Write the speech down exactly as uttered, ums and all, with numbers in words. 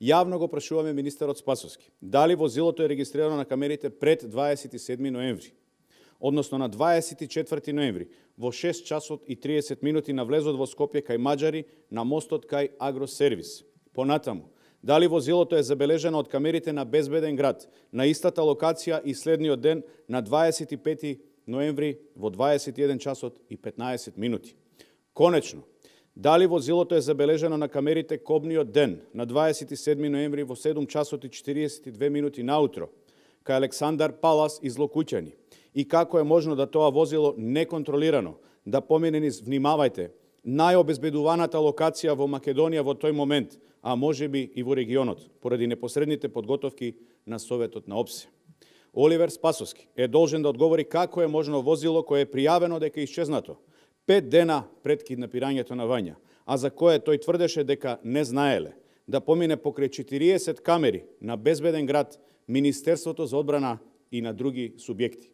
Јавно го прашуваме министерот Спасовски, дали возилото е регистрирано на камерите пред дваесет и седми ноември, односно на дваесет и четврти ноември, во шест часот и триесет минути на влезот во Скопје кај Маđари на мостот кај Агросервис. Понатаму, дали возилото е забележено од камерите на Безбеден град на истата локација и следниот ден на дваесет и пети ноември во дваесет и еден часот и петнаесет минути. Конечно, дали возилото е забележено на камерите кобниот ден на дваесет и седми ноември во седум часот и четириесет и две минути наутро кај Александар Палас из Локуќани и како е можно да тоа возило неконтролирано да помине низ, внимавајте, најобезбедуваната локација во Македонија во тој момент, а можеби и во регионот, поради непосредните подготовки на Советот на ОПСЕ. Оливер Спасовски е должен да одговори како е можно возило кое е пријавено дека е исчезнато пет дена пред киднапирањето на Вања, а за кое тој тврдеше дека не знаеле, да помине покрај четириесет камери на Безбеден град, Министерството за одбрана и на други субјекти.